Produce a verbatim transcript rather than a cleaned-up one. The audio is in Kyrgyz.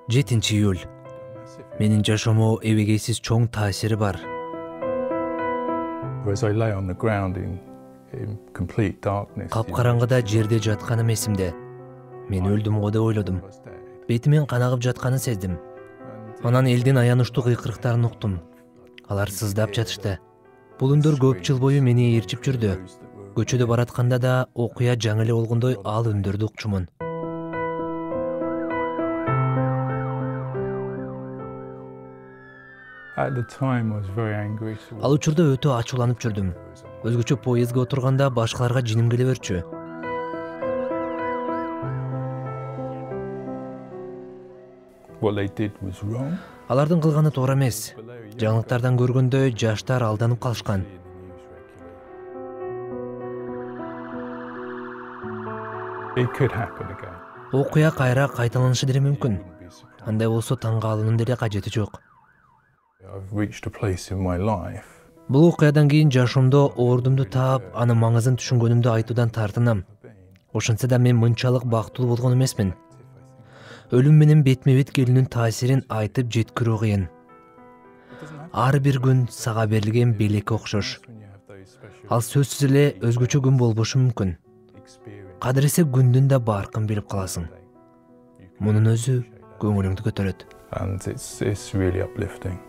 жетинчи июль. Менин жашоомо эбегейсиз чоң таасири бар. Капкараңгыда жерде жатканым эсимде. Мен өлдүм го деп ойлодум. Бетимен кан агып жатканын сездим. Анан элдин аянычтуу кыйкырыктарын уктум. Алар сыздап жатышты. Бул үндөр көп жыл бою мени ээрчип жүрдү. Көчөдө баратканда да окуя жаңы эле болгондой ал үндөрдү укчумун. Ал учурда өтө ачууланып жүрдүм. Өзгөчө поездге отурганда башкаларга жиним келе берчү. Алардын кылганы туура эмес. Жаңылыктардан көргөндөй жаштар алданып калышкан. Окуя кайра кайталанышы деле мүмкүн. Андай болсо таң калуунун деле кажети жок. Бул окуядан кийин жашоомдо ордумду таап, анын маңызын түшүнгөнүмдү айтуудан тартынам. Ошентсе да мен мынчалык бактылуу болгон эмесмин. Өлүм менен бетме-бет келүүнүн таасирин айтып жеткирүү кыйын. Ар бир күн сага берилген белекке окшош. Ал сөзсүз эле өзгөчө күн болбошу мүмкүн. Кадыресе күндүн да баркын билип каласың. Мунун өзү көңүлүңдү көтөрөт. And it's it's really uplifting.